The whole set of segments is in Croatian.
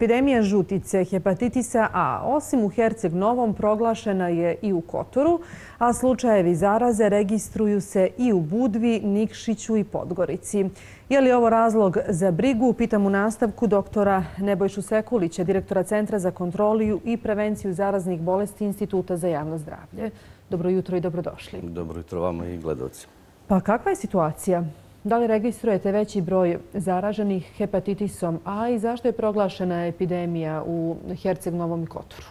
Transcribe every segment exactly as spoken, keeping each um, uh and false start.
Epidemija žutice, hepatitisa A, osim u Herceg Novom, proglašena je i u Kotoru, a slučajevi zaraze registruju se i u Budvi, Nikšiću i Podgorici. Je li ovo razlog za brigu? Pitam u nastavku doktora Nebojšu Sekulića, direktora Centra za kontrolu i prevenciju zaraznih bolesti Instituta za javno zdravlje. Dobro jutro i dobrodošli. Dobro jutro vama i gledalci. Pa kakva je situacija? Da li registrujete veći broj zaraženih hepatitisom A i zašto je proglašena epidemija u Herceg Novom i Kotoru?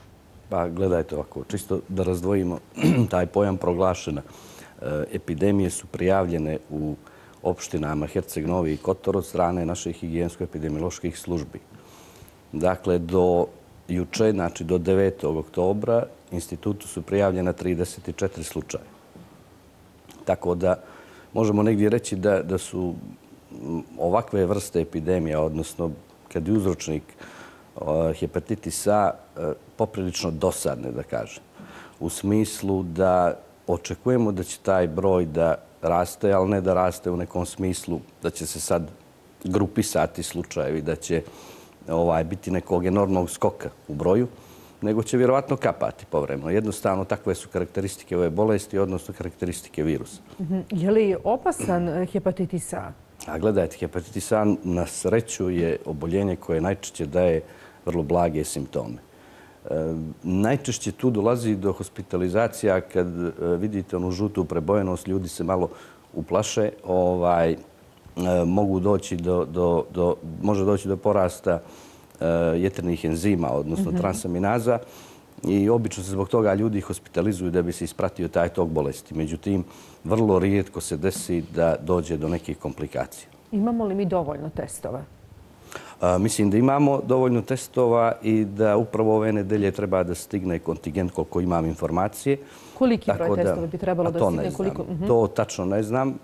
Pa gledajte ovako, čisto da razdvojimo taj pojam proglašena. Epidemije su prijavljene u opštinama Herceg Novi i Kotor od strane naših higijensko-epidemioloških službi. Dakle, do juče, znači do devetog oktobra, institutu su prijavljena trideset četiri slučaja. Tako da možemo negdje reći da, da su ovakve vrste epidemija, odnosno kad je uzročnik uh, hepatitis A, uh, poprilično dosadne, da kažem. U smislu da očekujemo da će taj broj da raste, ali ne da raste u nekom smislu da će se sad grupisati slučajevi, da će ovaj, biti nekog enormnog skoka u broju, nego će vjerovatno kapati povremeno. Jednostavno, takve su karakteristike ove bolesti, odnosno karakteristike virusa. Je li opasan hepatitis A? A gledajte, hepatitis A na sreću je oboljenje koje najčešće daje vrlo blage simptome. E, najčešće tu dolazi do hospitalizacija kad e, vidite onu žutu prebojenost, ljudi se malo uplaše, ovaj, e, mogu doći do, do, do, može doći do porasta jetrnih enzima, odnosno mm-hmm. transaminaza, i obično se zbog toga ljudi hospitalizuju da bi se ispratio taj tok bolesti. Međutim, vrlo rijetko se desi da dođe do nekih komplikacija. Imamo li mi dovoljno testova? A, mislim da imamo dovoljno testova i da upravo ove nedelje treba da stigne kontingent koliko imam informacije. Koliki broj da, testova bi trebalo da stigne? To, Koliko? Mm-hmm. to tačno ne znam,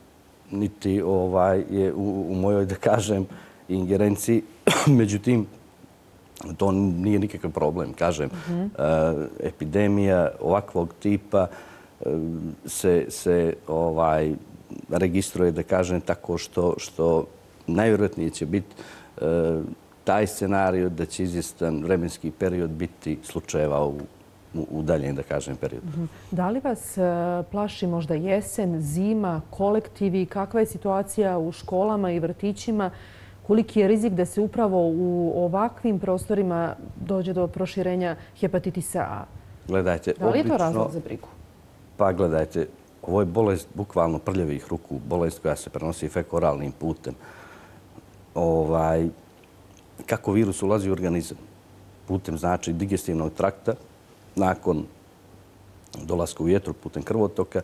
niti ovaj, je u, u mojoj, da kažem, ingerenciji. Međutim, to nije nikakav problem, kažem. Mm-hmm. Epidemija ovakvog tipa se, se ovaj, registruje, da kažem, tako što, što najvjerojatnije će biti taj scenarij da će izvjestan vremenski period biti slučajeva u, u, u daljem, da kažem, periodu. Mm-hmm. Da li vas plaši možda jesen, zima, kolektivi? Kakva je situacija u školama i vrtićima? Koliki je rizik da se upravo u ovakvim prostorima dođe do proširenja hepatitisa A? Gledajte, da li je to obično, razlog za brigu? Pa gledajte, ovo je bolest bukvalno prljavih ruku, bolest koja se prenosi fekoralnim putem. Ovaj, kako virus ulazi u organizam? Putem, znači, digestivnog trakta, nakon dolaska u jetru putem krvotoka,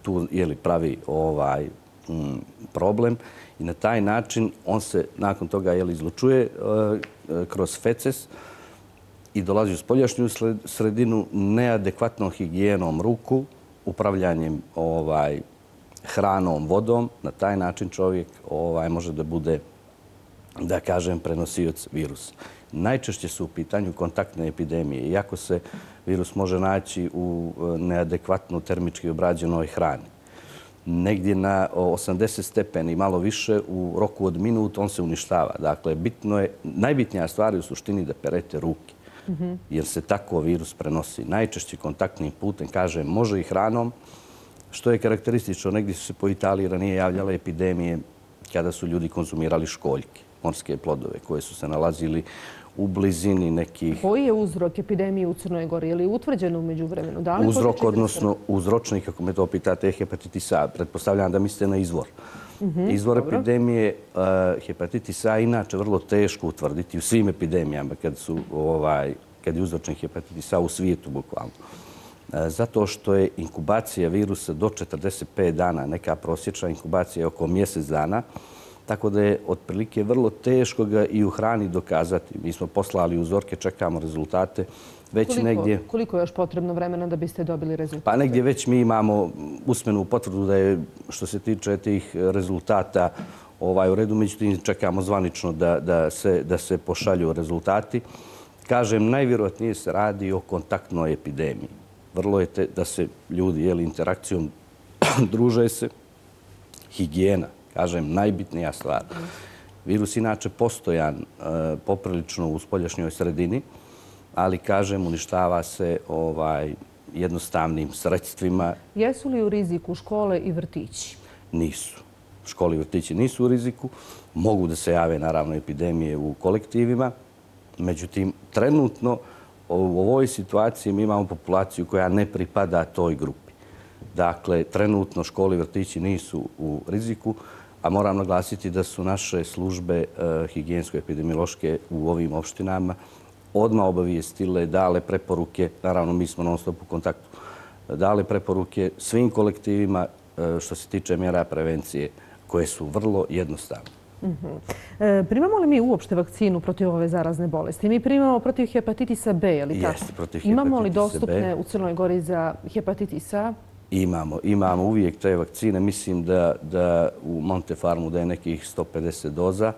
tu je li pravi ovaj, m, problem. I na taj način on se nakon toga jel, izlučuje e, kroz feces i dolazi u spoljašnju sredinu neadekvatnom higijenom ruku, upravljanjem ovaj, hranom, vodom. Na taj način čovjek ovaj, može da bude, da kažem, prenosioc virusa. Najčešće su u pitanju kontaktne epidemije. Iako se virus može naći u neadekvatno termički obrađenoj hrani, negdje na osamdeset stepeni i malo više u roku od minut on se uništava. Dakle, bitno je, najbitnija stvar je u suštini da perete ruke, mm-hmm. jer se tako virus prenosi. Najčešće kontaktnim putem, kažem, može i hranom, što je karakteristično. Negdje su se po Italiji ranije javljale epidemije kada su ljudi konzumirali školjke, morske plodove, koje su se nalazili u blizini nekih... Koji je uzrok epidemije u Crnoj Gori? Je li utvrđeno umeđu vremenu? Da li uzrok, odnosno uzročnik, kako me to pitate, je hepatitis A. Pretpostavljam da mislite na izvor. Mm-hmm, izvor dobro. Epidemije uh, hepatitis A inače vrlo teško utvrditi u svim epidemijama kad, su, ovaj, kad je uzročnik hepatitis A u svijetu, bukvalno. Uh, zato što je inkubacija virusa do četrdeset pet dana, neka prosječna inkubacija je oko mjesec dana, tako da je otprilike vrlo teško ga i u hrani dokazati. Mi smo poslali uzorke, čekamo rezultate. Već koliko, negdje, koliko je još potrebno vremena da biste dobili rezultate? Pa negdje već mi imamo usmenu potvrdu da je, što se tiče tih rezultata, ovaj, u redu. Međutim, čekamo zvanično da, da, se, da se pošalju rezultati. Kažem, najvjerojatnije se radi o kontaktnoj epidemiji. Vrlo je te, da se ljudi jeli, interakcijom druže se, higijena. Kažem, najbitnija stvar. Virus inače postojan poprilično u spoljašnjoj sredini, ali, kažem, uništava se jednostavnim sredstvima. Jesu li u riziku škole i vrtići? Nisu. Škole i vrtići nisu u riziku. Mogu da se jave, naravno, epidemije u kolektivima. Međutim, trenutno u ovoj situaciji mi imamo populaciju koja ne pripada toj grupi. Dakle, trenutno škole i vrtići nisu u riziku, a moram naglasiti da su naše službe higijensko-epidemiološke u ovim opštinama odmah obavijestile, dale preporuke, naravno mi smo non stop u kontaktu, dale preporuke svim kolektivima što se tiče mjera prevencije, koje su vrlo jednostavne. Primamo li mi uopšte vakcinu protiv ove zarazne bolesti? Mi primamo protiv hepatitisa B, je li tako? Jeste, protiv hepatitisa B. Imamo li dostupne u Crnoj Gori za hepatitis A? Imamo. Imamo uvijek te vakcine. Mislim da u Montefarmu da je nekih sto pedeset doza.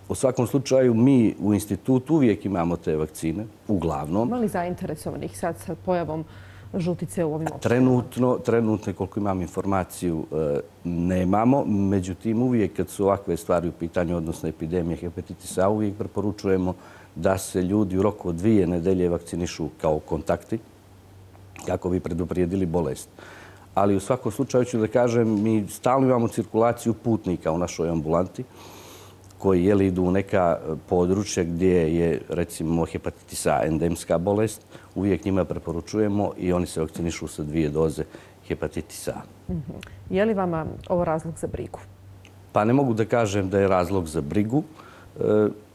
U svakom slučaju, mi u institutu uvijek imamo te vakcine, uglavnom. Ima li zainteresovanih sad sa pojavom žutice u ovim opštinama? Trenutno, trenutno, koliko imam informaciju, nemamo. Međutim, uvijek kad su ovakve stvari u pitanju, odnosno epidemije hepatitisa A, uvijek preporučujemo da se ljudi u roku od dvije nedelje vakcinišu kao kontakti, kako bi preduprijedili bolest. Ali u svakom slučaju ću da kažem, mi stalno imamo cirkulaciju putnika u našoj ambulanti, koji jeli idu u neka područja gdje je, recimo, hepatitis A endemska bolest. Uvijek njima preporučujemo i oni se vakcinišu sa dvije doze hepatitisa A. Je li vama ovo razlog za brigu? Pa ne mogu da kažem da je razlog za brigu,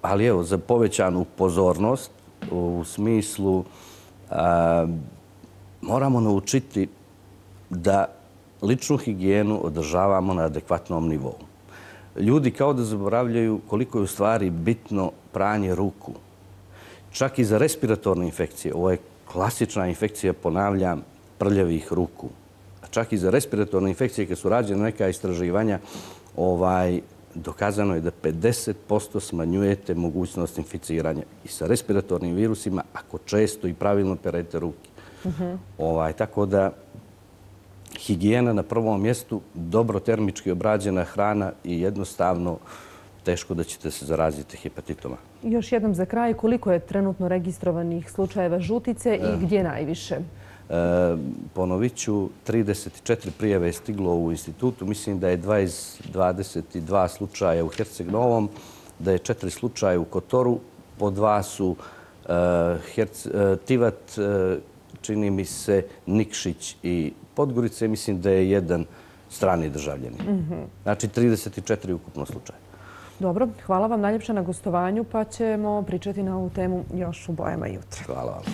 ali evo, za povećanu pozornost u smislu moramo naučiti da ličnu higijenu održavamo na adekvatnom nivou. Ljudi kao da zaboravljaju koliko je u stvari bitno pranje ruku. Čak i za respiratorne infekcije, ovo je klasična infekcija, ponavljam, prljavih ruku. Čak i za respiratorne infekcije, kad su rađene neka istraživanja, dokazano je da pedeset posto smanjujete mogućnost inficiranja i sa respiratornim virusima ako često i pravilno perete ruke. Tako da higijena na prvom mjestu, dobro termički obrađena hrana i jednostavno teško da ćete se zaraziti hepatitom A. Još jednom za kraj, koliko je trenutno registrovanih slučajeva žutice i gdje najviše? Ponovit ću, trideset četiri prijave je stiglo u institutu. Mislim da je dvadeset dva slučaja u Herceg Novom, da je četiri slučaja u Kotoru, po dva su Tivat, čini mi se, Nikšić i Podgorice. Mislim da je jedan strani državljanin. Znači, trideset četiri ukupno slučaja. Dobro, hvala vam najljepše na gostovanju, pa ćemo pričati na ovu temu još u Bojama jutra. Hvala vam.